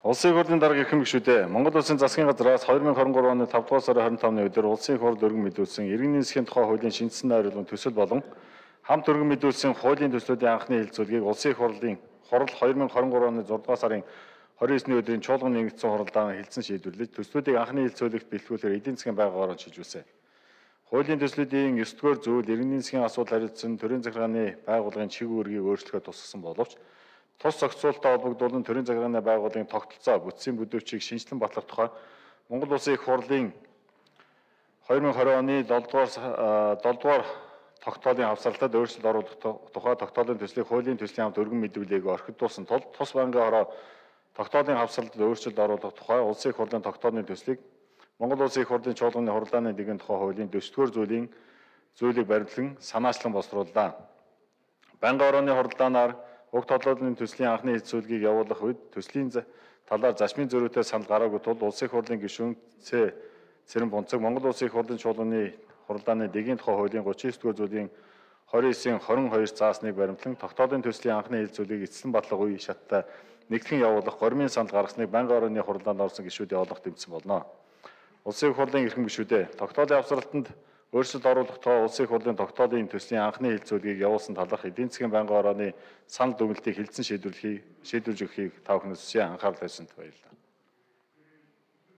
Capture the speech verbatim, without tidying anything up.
Улсын их хурлын дарга эрхэм гишүүдээ Монгол Улсын засгийн газраас хоёр мянга хорин гурван оны тавдугаар сарын хорин тавны өдөр Улсын их хурл өргөн мэдүүлсэн иргэний засгийн тухай хуулийн шинжилсэн найруулгын төсөл болон хамт өргөн мэдүүлсэн хуулийн төслүүдийн анхны хэлэлцүүлгийг Улсын их хурлын хурал хоёр мянга хорин гурван оны зургаан сарын хорин есний өдрийн чуулган нэгдсэн хуралдаан хэлсэн шийдвэрлэж төслүүдийг анхны хэлэлцүүлэгт бэлтгүүлэхээр эдийн засгийн байгууллагаар шилжүүлсэн. Хуулийн төслүүдийн ёс зүйн зүйл иргэний засгийн асуудал хариуцсан төрийн захиргааны байгууллагын чиг үүргийг өөрчлөхөд тусгасан боловч тус зохицуулалттай холбогдуулан төрийн захиргааны байгууллагын тогтолцоо бүтцийн бүдүүрчийг шинжилэн батлах тухай Монгол Улсын их хурлын хоёр мянга хорин оны долдугаар тогтоолын хавсралтад өөрчлөлт оруулах тухай тогтоолын төслийг хуулийн төслийн хамт өргөн мэдүүлээг орхидуулсан тул тус банкны хороо тогтоолын хавсралтад өөрчлөлт оруулах тухай Улсын их хурлын тогтоолын төслийг Монгол Улсын их хурлын чуулганы хуралдааны нэгэн тухай хуулийн дөсдгөр зүйлийн зүйлийг баримтлан санаачлан босрууллаа. Банкны хорооны хуралдаанаар уг толгойн төслийн анхны хэлэлцүүлгийг явуулах үед төслийн талаар зашмын зөрүүтэй санал гараагүй тул Улсын их хурлын гишүүн Ц. Цэрэн Бунцаг Монгол Улсын их хурлын чуулганы хуралдааны дэгийн тухай хуулийн гучин девять дугаар зүйлийн хорин девятын хорин хоёр заасныг баримтлан тогтоолын төслийн анхны хэлэлцүүлгийг эцэслэн батлах үе шаттай нэгтгэн явуулах гормын санал гаргасныг банкны хорооны хуралдаанд орсон гишүүдийн олонх тэмцсэн болно. Улсын их хурлын эрхэм гишүүдээ тогтоолын авсралтанд өөрчлөлт оруулах тухай Улсын их хурлын тогтоолын төслийн анхны хэлэлцүүлгийг явуулсан талаарх эдийн засгийн банкны хорооны санал дүгнэлтийг хэлэлцэн шийдвэрлэхийг шийдвэрлэж өгөхийг та бүхнээс анхаарал тавьсанд баярлалаа.